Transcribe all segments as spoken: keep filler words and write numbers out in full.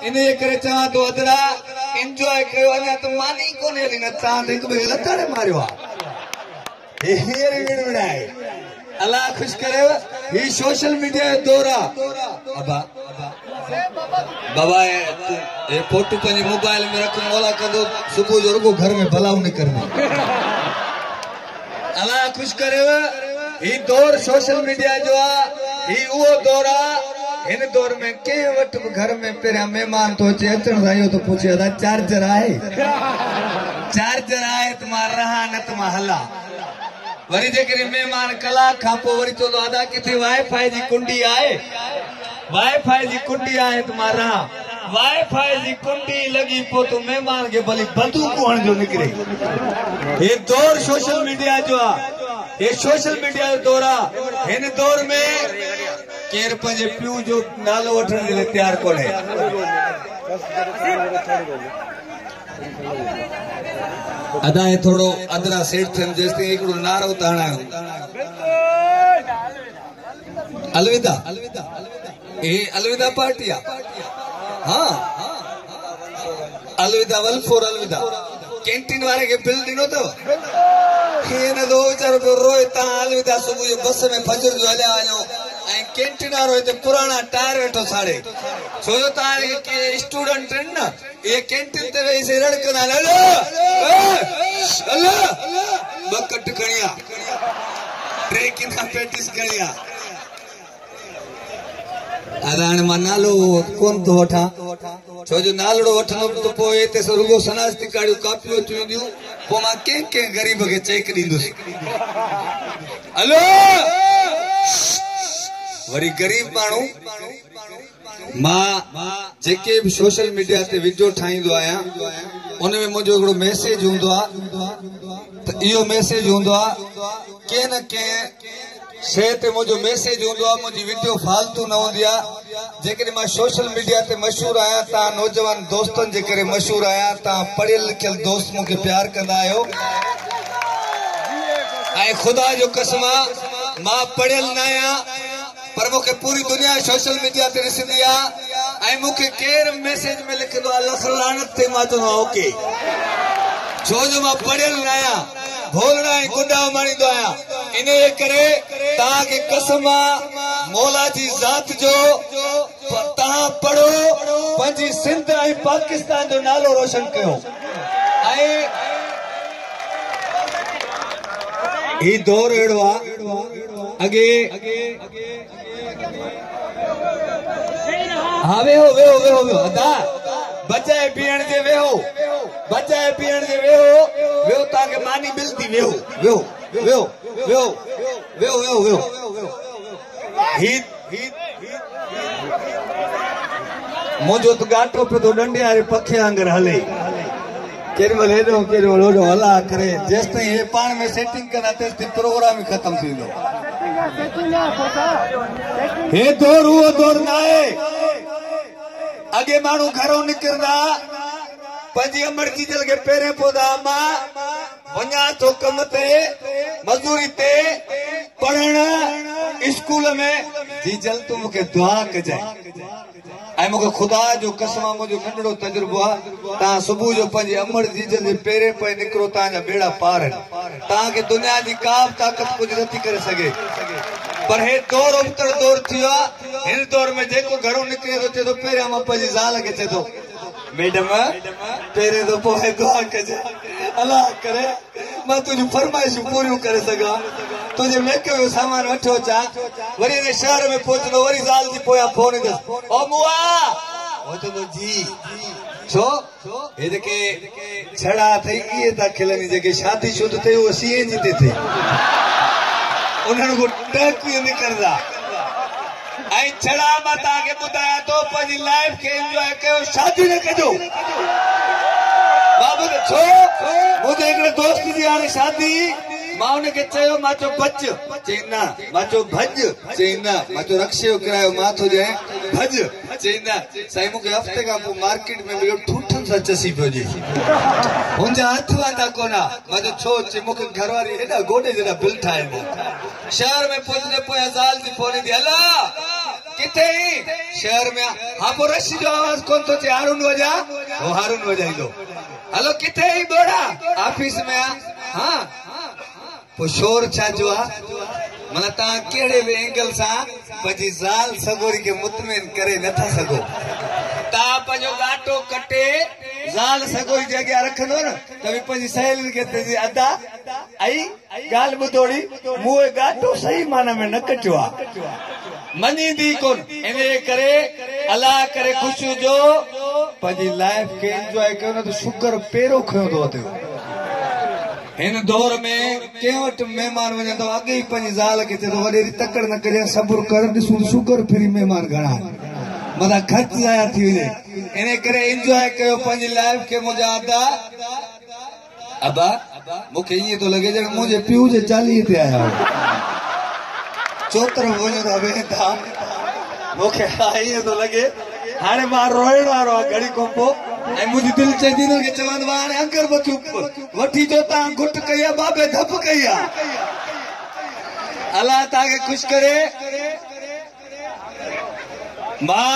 इन जे करे चवां थो अदरा एंजॉय कयो। अञा त मानी कोन्हे हली, न तव्हां त हिक ॿिए खे लताड़े मारियो आहे। हे हींअर विड़ विड़ आहे। अलाह ख़ुशि करेव। ही सोशल मीडिया जो दौर आहे। अबा बाबा हे फोटो पंहिंजे मोबाइल में रख, मौला कंदो सुबुह जो रुगो घर में भलाऊं निकिरंदो। अलाह ख़ुशि करेव। ही दौर सोशल मीडिया जो आहे, ही उहो दौर आहे। हिन दौर में कंहिं वटि बि घर में पहिरियां महिमान थो अचे, अचण सां इहो थो पुछे अदा चार्जर आहे? चार्जर आहे त मां रहां, न त मां हलां। वरी जेकॾहिं महिमान कलाक खां पोइ वरी चवंदो अदा किथे वाईफाई जी कुंडी आहे? वाईफाई जी कुंडी आहे त मां रहां। वाईफाई जी कुंडी लॻी पोइ त महिमान खे भली बंदूक हणजो निकिरे। हे दौर सोशल मीडिया जो आहे, हे सोशल मीडिया जो दौर आहे। हिन दौर में केरु पंहिंजे पीउ जो नालो वठण जे लाइ तयारु कोन्हे। अदा हे थोरो अदरा सेठ थियनि, जेसिताईं हिकिड़ो नारो था हणायूं। अलविदा, हे अलविदा पार्टी आहे। हा अलविदा वन फोर अलविदा। कैंटीन वारे खे बिल ॾिनो अथव? ईअं नथो वीचारो पियो रोए। तव्हां अलविदा सुबुह जो बस में फजर जो हलिया वञो ऐं कैंटीन वारो हिते पुराणा टायर वेठो साड़े। छो जो तव्हां जेके स्टूडेंट आहिनि न, इहे कैंटीन ते वेही से रड़ कंदा आहिनि, हलो हलो ॿ कट खणी आ, टे किना पेटिस खणी आ। अरे हाणे मां नालो कोन थो वठां, छो जो नालड़ो वठंदुमि त पोइ हिते रुगो सनास्ती काड़ियूं कापियूं अची वेंदियूं, पोइ मां कंहिं कंहिं ग़रीब खे चेक ॾींदुसि। हलो वरी ग़रीब माण्हू। मां जेके बि सोशल मीडिया ते विडियो ठाहींदो आहियां, उन में मुंहिंजो हिकिड़ो मैसेज हूंदो आहे। त इहो मैसेज हूंदो आहे, कंहिं न कंहिं शइ ते मुंहिंजो मैसेज हूंदो आहे। मुंहिंजी विडियो फालतू न हूंदी आहे। जेकॾहिं मां सोशल मीडिया ते मशहूरु आहियां, तव्हां नौजवान दोस्तनि जे करे मशहूरु आहियां। तव्हां पढ़ियल लिखियल दोस्त मूंखे प्यार कंदा आहियो। ऐं ख़ुदा जो कसम आहे, मां पढ़ियल न आहियां, पर मूंखे पूरी दुनिया सोशल मीडिया ते ॾिसंदी आहे। ऐं मूंखे केरु मैसेज में लिखंदो आहे लख लानत ते, मां चवंदो आहियां ओके। छो जो मां पढ़ियल न आहियां, भोलड़ा ऐं गुॾा मारींदो आहियां। इन जे करे तव्हांखे कसम आहे मौला जी ज़ात जो, तव्हां पढ़ो, पंहिंजी सिंध ऐं पाकिस्तान जो नालो रोशन कयो। ऐं ही दौर अहिड़ो आहे, अॻे हा वेहो वेहो वेहो वेहो अदा बचाए पीअण जे वेहो, बचाए पीअण जे वेहो वेहो, तव्हांखे मानी मिलंदी। वेहो वेहो वेहो वेहो वेहो वेहो वेहो। ही मुंहिंजो त ॻाटो पियो थो ॾंडे वारे पखे वांगुरु हले, केॾी महिल हेॾो केॾी महिल होॾो। अलाह करे जेसिताईं हे पाण में सेटिंग कंदा तेसिताईं प्रोग्राम ई ख़तमु थी वेंदो। हे दौर उहो दौर न आहे। अॻे माण्हू घरों निकिरंदा, पंहिंजी अमड़ जीजल खे पहिरें पवंदा, मां वञा थो कम ते, मज़दूरी ते, पढ़ण स्कूल में, जीजल तूं मूंखे दुआ कजांइ। ऐं मूंखे ख़ुदा जो कसम आहे, मुंहिंजो नंढड़ो तजुर्बो आहे। तव्हां सुबुह जो पंहिंजी अमड़ जीजल जे पेरे पए निकिरो, तव्हांजा ॿेड़ा पार आहिनि। तव्हांखे दुनिया जी का बि ताक़त कुझु नथी करे सघे। पर हे दौर उबतड़ दौर थी वियो आहे। हिन दौर में जेको घरों निकिरे थो, चए थो पहिरियां मां पंहिंजी ज़ाल खे चए थो मैडम पहिरें थो पोइ दुआ कजांइ, अलाह करे मां तुंहिंजूं फरमाइशूं पूरियूं करे सघां, तुंहिंजे मेकअप जो सामान वठो अचां। वरी हिन शहर में पहुचंदो, वरी ज़ाल जी पोयां फोन ईंदसि, ओ मुआ, उहो चवंदो जी। छो हे जेके छड़ा अथई इहे था खिलनि, जेके शादी शुद अथई उहे सी एन जी ते थिए, उन्हनि खां टहक ई निकिरंदा। ऐं छड़ा मां तव्हांखे ॿुधायां थो, पंहिंजी लाइफ खे एंजॉय कयो, शादी न कजो। बाबू छो मुंहिंजे हिकिड़े दोस्त जी हाणे शादी, मां हुनखे चयो, मां चयो बच, चई न, मां चयो भॼ, चई न, मां चयो रक्शे जो किरायो मां थो ॾियां, भॼ, चई न। साईं मूंखे हफ़्ते खां पोइ मार्केट में मिलियो, ठूठनि सां चसी पियो ॾिए, हुनजा हथु वांदा कोन। मां चयो छो? चई मूंखे घरवारी हेॾा गोॾे जेॾा बिल ठाहे ॾिना। शहर में पहुचंदे पोयां ज़ाल जी फोन ईंदी, हला किथे शहर में हा पोइ रश जो आवाज़ कोन थो अचे हारून वॼा हो हारून वॼाईंदो हलो किथे ई ॿोड़ा ऑफिस में आ हा पोइ शोर छा जो आहे माना तव्हां कहिड़े बि एंगल सां पंहिंजी ज़ाल सगोरी खे मुतमिन करे नथा सघो। तव्हां पंहिंजो ॻाटो कटे ज़ाल सगोरी जे अॻियां रखंदो न त बि पंहिंजी सहेलियुनि खे चई अदा आई ॻाल्हि ॿुधोड़ी मूं ॻाटो सही माना में न कटियो आहे मञींदी कोन। इन करे अलाह करे ख़ुशि हुजो पंहिंजी लाइफ खे एंजॉय कयो न त शुगर पेरो खयो थो वधे। हिन दौर में कंहिं वटि महिमान वञनि त अॻे ई पंहिंजी ज़ाल खे चए थो वॾेरी तकड़ न कजांइ सब्र कर ॾिसूं शुगर फिरी महिमान घणा आहिनि मथां ख़र्च ज़ाया थी वञे। इन करे एंजॉय कयो पंहिंजी लाइफ खे। मुंहिंजा अदा अबा मूंखे ईअं थो लॻे ॼण मुंहिंजे पीउ जे चालीह ते आया चौतरफ़ वञो था वेंदा मूंखे ईअं थो लॻे हाणे मां रोइण वारो आहियां घड़ी खां पोइ ऐं मुंहिंजी दिलि चए थी हिननि खे चवां त हाणे अगरबत्तियूं वठी अचो तव्हां घुट कई आहे बाबे धप कई आहे। अलाह तव्हांखे ख़ुशि करे। मां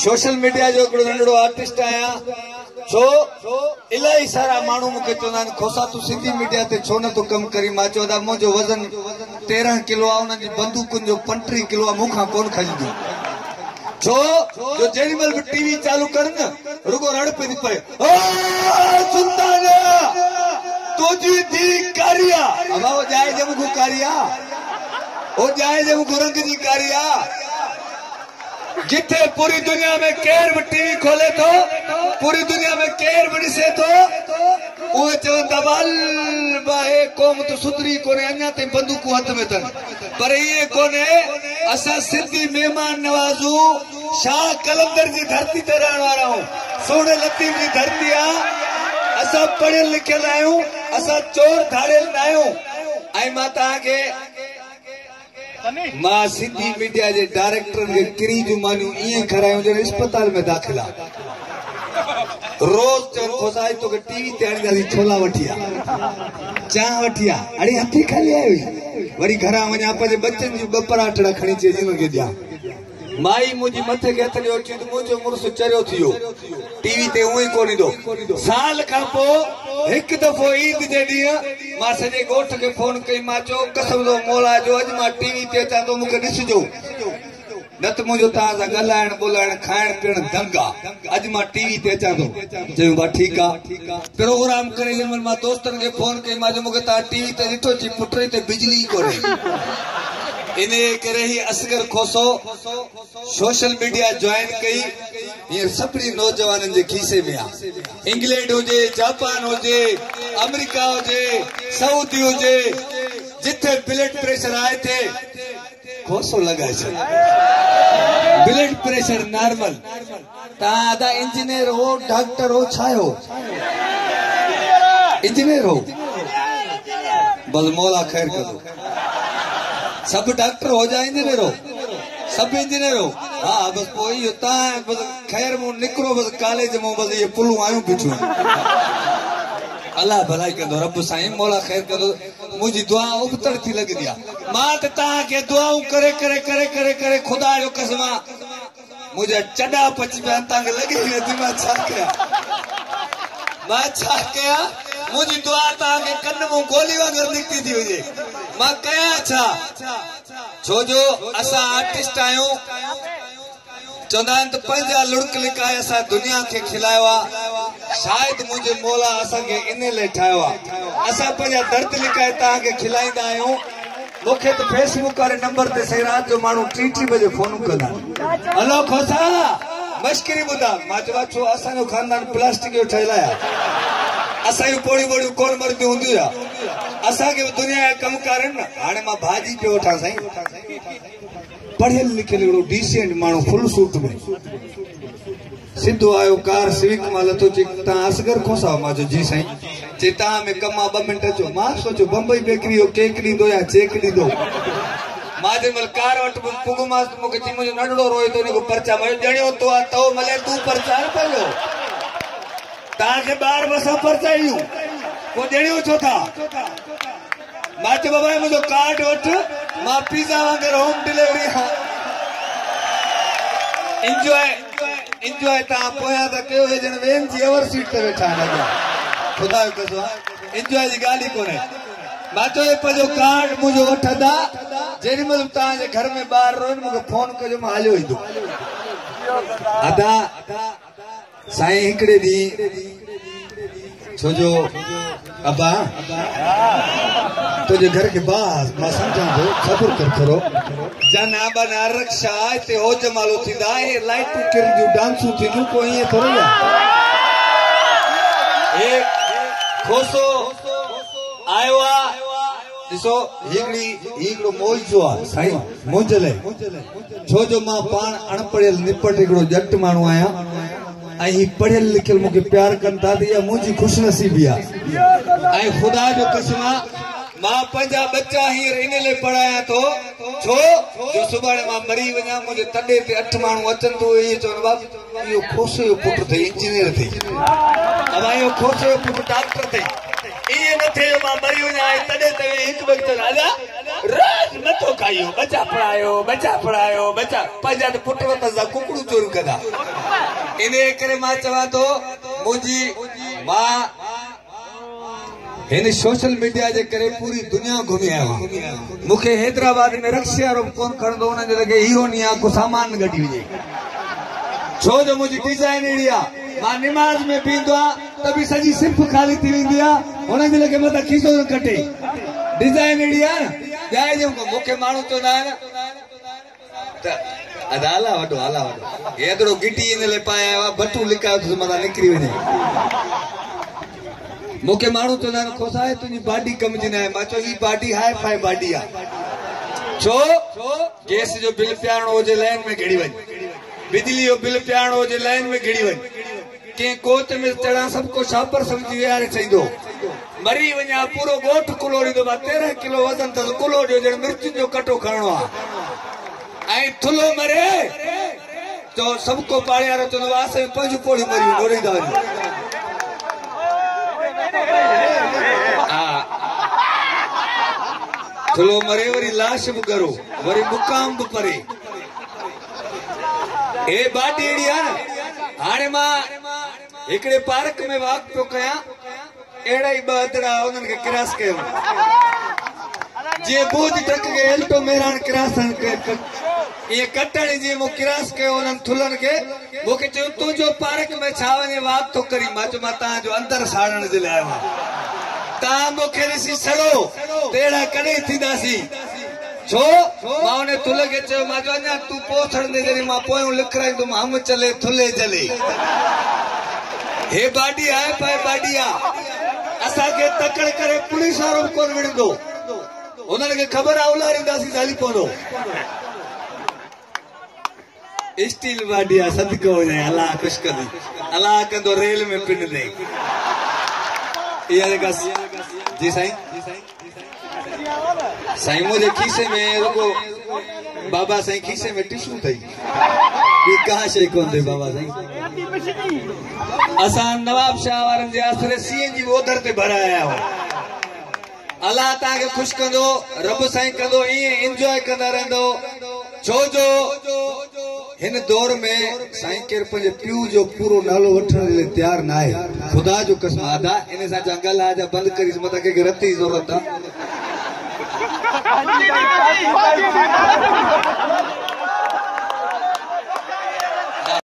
सोशल मीडिया जो हिकिड़ो नंढड़ो आर्टिस्ट आहियां छो इलाही सारा माण्हू मूंखे चवंदा आहिनि खोसा तूं सिंधी मीडिया ते छो नथो कमु करीं। मां चयो त मुंहिंजो वज़न तेरहं किलो आहे उन्हनि जी बंदूकुनि जो पंटीह किलो आहे मूंखां कोन खञंदियूं। छो जो जेॾी महिल बि टीवी चालू कर न रुगो रड़ पई थी पए ओ सुल्तान तुंहिंजी धीउ कारी आहे। अबा उहो ॼाए जे मूंखां कारी आहे उहो ॼाए जे मूंखां रंग जी कारी आहे। जिथे पूरी दुनिया में केर बि टीवी खोले थो पूरी दुनिया में केर बि ॾिसे थो उहे चवनि था हे क़ौम त सुधरी कोन्हे अञा ताईं बंदूकूं हथ में अथनि पर ईअं कोन्हे। असां सिंधी महिमान नवाज़ूं शाह कलंदर जी धरती ते रहण वारा आहियूं सुहिणे लतीफ़ जी धरती आहे। असां पढ़ियल लिखियल आहियूं असां चोर धाड़ियल न आहियूं। ऐं मां तव्हांखे मां सिंधी मीडिया जे डायरेक्टरनि खे किरी जूं मानियूं ईअं खारायूं ॼण अस्पताल में दाख़िल आहे। रोज़ चवनि खोसा अॼु तोखे टीवी ते आणींदासीं छोला वठी आ चांहि वठी आ अड़े हथी खाली आयो वरी घरां वञा पंहिंजे बच्चनि जूं ॿ पराठड़ा खणी अचे हुनखे ॾियां। माई मुंहिंजी मथे खे हथ ॾियो चई त मुंहिंजो मुड़ुसु चरियो थी वियो टीवी ते उअं ई कोन ईंदो। साल खां पोइ हिकु दफ़ो ईद जे ॾींहुं मां सॼे ॻोठ खे फोन कई मां चयो कसम थो मौला जो अॼु मां टीवी ते अचां थो मूंखे ॾिसजो न त मुंहिंजो तव्हां सां ॻाल्हाइणु ॿोलाइणु खाइणु पीअणु दंग आहे अॼु मां टीवी ते अचां थो। चयूं भाउ ठीकु आहे। प्रोग्राम करे जंहिं महिल मां दोस्तनि खे फोन कई मां चयो मूंखे तव्हां टीवी ते ॾिठो चई पुट हिते बिजली ई कोन्हे। इन करे ही Asghar Khoso social media join कई हींअर सभिनी नौजवाननि जे खीसे में आहे। इंग्लैंड हुजे जापान हुजे अमेरिका हुजे सऊदी हुजे जिथे ब्लड प्रेशर आहे थे खोसो लॻाए छॾ ब्लड प्रेशर नॉर्मल। तव्हां अदा इंजीनियर हो डॉक्टर हो छा हो इंजीनियर हो बस मौला ख़ैर कंदो। सभु डॉक्टर हो जा इंजीनियर हो सभु इंजीनियर हो हा बसि पोइ इहो तव्हां बसि ख़ैर मूं निकिरो बसि कॉलेज मां बसि इहे पुलूं आयूं बीठियूं आहिनि। अलाह भलाई कंदो रब साईं मौला ख़ैर कंदो। मुंहिंजी दुआ उबतड़ थी लॻंदी आहे। मां त तव्हांखे दुआऊं करे करे करे करे करे ख़ुदा जो कसम आहे मुंहिंजा चॾा पची पिया आहिनि तव्हांखे लॻे ई नथी मां छा कयां मां छा कयां। मुंहिंजी दुआ तव्हांखे कन मां गोली वांगुरु निकिती थी वञे। मां कयां छा छो जो असां आर्टिस्ट आहियूं चवंदा आहिनि त पंहिंजा लुड़क लिकाए असां दुनिया खे खिलायो आहे शायदि मुंहिंजे मौला असांखे इन लाइ ठाहियो आहे। असां पंहिंजा दर्द लिकाए तव्हांखे खिलाईंदा आहियूं। मूंखे त फेसबुक वारे नंबर ते सही राति जो माण्हू टी टी बजे फोन कंदा आहिनि हलो खोसा मश्किरी ॿुधा। मां चयो आहे छो असांजो ख़ानदान प्लास्टिक जो ठहियल आहे असांजूं पोड़ियूं वोड़ियूं कोन मरदियूं हूंदियूं छा असांखे बि दुनिया जा कम कार आहिनि न। हाणे मां भाॼी पियो वठां साईं पढ़ियल लिखियल हिकिड़ो डिसेंट माण्हू फुल सूट में सिधो आयो कार सिविक मां लथो चई तव्हां असगर खोसा? मां चयो जी साईं। चई तव्हां में कमु आहे ॿ मिंट अचो। मां सोचियो बंबई बेकरी जो केक ॾींदो या चेक ॾींदो। मां जंहिं महिल कार वटि पुॻुमांसि त मूंखे चई मुंहिंजो नंढड़ो रोए थो हिन खां परचा। मां चयो ॼणियो तो आहे तो मले तूं परचार पियो तव्हांखे ॿार बसां परचायूं पोइ ॼणियो छो था? मां चयो बाबा मुंहिंजो कार्ड वठि मां पिज़्ज़ा वांगुरु होम डिलीवरी हा। एंजॉय एंजॉय तव्हां पोयां त कयो हे ॼण when ji our seat ते वेठा आहिनि अॻियां। ख़ुदा जो कसम एंजॉय जी ॻाल्हि ई कोन्हे। मां चयो पंहिंजो कार्ड मुंहिंजो वठंदा, जेॾी महिल तव्हांजे घर में ॿार रोइनि मूंखे फोन कजो, मां हलियो ईंदो। अदा साईं हिकिड़े ॾींहुं छो जो अबा तुंहिंजे घर खे बास मां सम्झां थो, ख़बर कर थोरो। जाना बना रक्षा हिते हो जमालो थींदा, हे लाइटूं किरंदियूं, डांसूं थींदियूं, को ईअं थोरो ई आहे। हे खोसो आयो आहे, ॾिसो हिकिड़ी हिकिड़ो मौजो आहे साईं मुंहिंजे लाइ, छो जो मां पाण अणपढ़ियल निपट हिकिड़ो ॼट माण्हू आहियां ऐं ही पढ़ियल लिखियल मूंखे प्यार कनि था, त इहा मुंहिंजी ख़ुशनसीबी आहे। ऐं ख़ुदा जो कसम आहे, मां पंहिंजा बच्चा हींअर इन लाइ पढ़ायां थो, छो जो सुभाणे मां मरी वञा, मुंहिंजे तॾे ते अठ माण्हू अचनि त उहे ईअं चवनि, बाप इहो खोसे जो पुटु अथई, इंजीनियर अथई, अबा इहो खोसे जो पुटु डॉक्टर अथई। ईअं न थिए जो मां मरी वञा ऐं तॾे ते हिकु ॿ चवनि, अदा रोज़ मथो खाइयो, बच्चा पढ़ायो, बच्चा पढ़ायो, बच्चा पंहिंजा त पुट वतन सां कुकड़ूं चोरियूं कंदा। इन करे मां चवां थो, मुंहिंजी मां हिन सोशल मीडिया जे करे पूरी दुनिया घुमी आयो आहियां। मूंखे हैदराबाद में रक्शे वारो बि कोन खणंदो, हुनजे लॻे हीरो नी आहे, को सामान कढी वञे, छो जो मुंहिंजी डिज़ाइन अहिड़ी आहे। मां निमाज़ में बीहंदो आहियां त बि सॼी सिफ ख़ाली थी वेंदी आहे, हुनजे लॻे मथां खीसो न कटे। डिज़ाइन अहिड़ी आहे न, ॼाए मूंखे माण्हू चवंदा आहिनि त अदा अला वॾो, अला वॾो, हेतिरो गिटी इन लाइ पाए आयो आहे, बटू लिकायो अथसि मथां निकिरी वञे। मूंखे माण्हू चवंदा आहिनि, खोसा आहे तुंहिंजी बाडी कम जी न आहे। मां चयो हीअ बाडी हाई फाई बाडी आहे, छो गैस जो बिल पीआरणो हुजे लाइन में घिड़ी वञ, बिजली जो बिल पीआरणो हुजे लाइन में घिड़ी वञ, कंहिं कोच में चढ़ा सभु को छापर सम्झी विहारे छॾींदो, मरी वञा पूरो ॻोठ कुलोड़ींदो। मां तेरहं किलो वज़न अथसि, कुलो ॾियो ॼण मिर्चुनि जो कटो खणणो आहे। ऐं थुल्हो मरे तो सभु को पाड़े वारो चवंदो आहे, असां पंज पोड़ियूं मरियूं, ॾोड़ींदा वञो। हा थुल्हो मरे वरी लाश बि ॻरो, वरी मुक़ाम बि परे। हे बाडी अहिड़ी आहे न। हाणे मां हिकिड़े पार्क में वाक पियो कयां, अहिड़ा ई ॿ अधड़ा उन्हनि खे क्रॉस कयो, जीअं बोझ ट्रक खे एल्टो मेहरान क्रॉस ईअं कटण जीअं मूं क्रॉस कयो उन्हनि थुल्हनि खे, मूंखे चयो तुंहिंजो पार्क में छा वञे वाक थो करीं। मां चयो मां तव्हांजो अंदरि साड़ण जे लाइ आयो आहियां, तव्हां मूंखे ॾिसी सड़ो त अहिड़ा कॾहिं थींदासीं। छो मां उन थुल्ह खे चयो, मां चयो अञा तूं पोइ सड़ंदे, जॾहिं मां पोयों लिखाराईंदुमि हम चले थुल्हे जले। हे बाडी आहे पाए बाडी आहे, असांखे तकड़ करे पुलिस वारो बि कोन विढ़ंदो, हुननि खे ख़बर आहे उलारींदासीं हली पवंदो। स्टील बाडी आहे, सदको वञे, अलाह ख़ुशि कंदी, अलाह कंदो रेल में पिनंदे। इहा जेका जी साईं साईं मुंहिंजे खीसे में रुगो बाबा साईं खीसे में टिशू अथई, ॿी का शइ कोन अथई बाबा साईं। असां नवाब शाह वारनि जे आसरे सी एन जी ओधर ते भराए आया हुआ। अलाह तव्हांखे ख़ुशि कंदो, रब साईं कंदो, ईअं इंजॉय कंदा रहंदो। छो जो हिन दौर में साईं केरु पंहिंजे पीउ जो पूरो नालो वठण जे लाइ तयारु न आहे। ख़ुदा जो कसम अदा इन सां जंगल आहे जा बंदि करीस, मथां कंहिंखे रत जी ज़रूरत आहे।